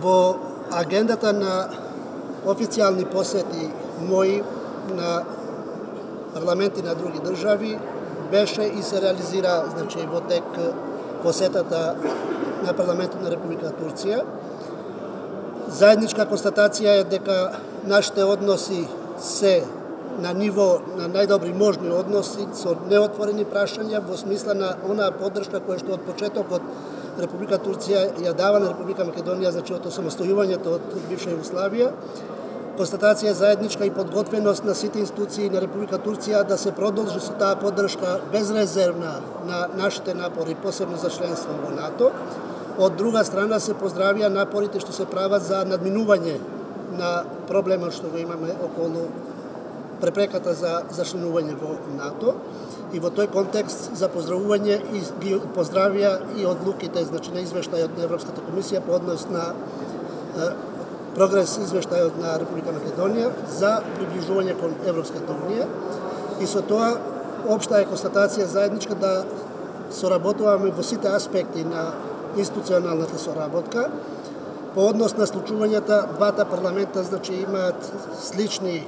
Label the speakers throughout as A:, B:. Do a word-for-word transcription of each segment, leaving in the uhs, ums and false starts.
A: Во агендата на официјални посети мои на парламенти на други држави беше и се реализира, значи, во тек посетата на парламентот на Република Турција. Заедничка констатација е дека нашите односи се на ниво на најдобри можни односи со неотворени прашања во смисла на онаа поддршка која што од почетокот Република Турција ја дава на Република Македонија, значи од осамостојувањето од бивша Југославија. Констатација заедничка и подготвеност на сите институции на Република Турција да се продолжи со таа поддршка безрезервна на нашите напори, посебно за членство во НАТО. Од друга страна се поздравија напорите што се прават за надминување на проблемот што го имаме околу препреката за за членување во НАТО. И во тој контекст за поздравување и ги поздравија и одлуките, значи, на извештајот на Европската комисија по однос на е, прогрес извештајот на Република Македонија за приближување кон Европската унија. И со тоа општа е констатација заедничка да соработуваме во сите аспекти на институционалната соработка. По однос на случувањата, двата парламента, значи, имаат слични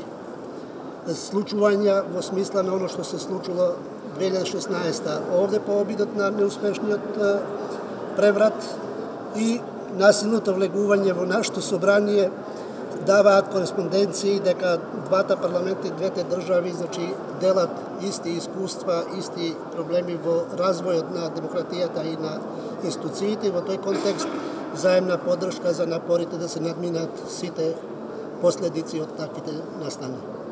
A: случувања во смисла на оно што се случило две илјади и шеснаесета овде по обидот на неуспешниот преврат и насилното влегување во нашето собрание даваат кореспонденции дека двата парламента и двете држави, значи, делат исти искуства, исти проблеми во развојот на демократијата и на институциите. Во тој контекст заемна поддршка за напорите да се надминат сите последици од таквите настани.